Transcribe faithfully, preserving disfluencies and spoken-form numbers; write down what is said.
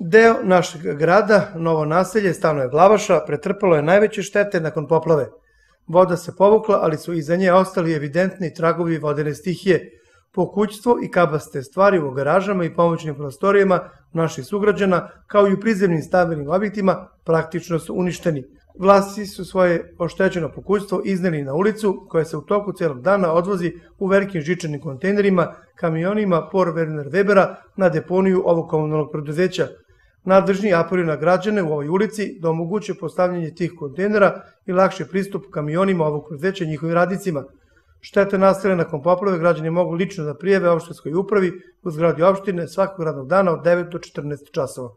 Deo našeg grada, Novo naselje, stanove Glavaša, pretrpelo je najveće štete nakon poplave. Voda se povukla, ali su iza nje ostali evidentni tragovi vodene stihije. Pokućstvo i kabaste stvari u garažama i pomoćnim prostorijama naših sugrađana, kao i u prizemnim stambenim objektima, praktično su uništeni. Vlasnici su svoje oštećeno pokućstvo izneli na ulicu, koja se u toku celog dana odvozi u velikim žičanim kontejnerima, kamionima Por Werner Webera na deponiju ovog komunalnog preduzeća. Nadležni apeluju na građane u ovoj ulici da omoguće postavljanje tih kontejnera i lakši pristup kamionima ovog preduzeća i njihovim radnicima. Štete nastale nakon poplave građani mogu lično da prijave opštinskoj upravi u zgradi opštine svakog radnog dana od devet do četrnaest časova.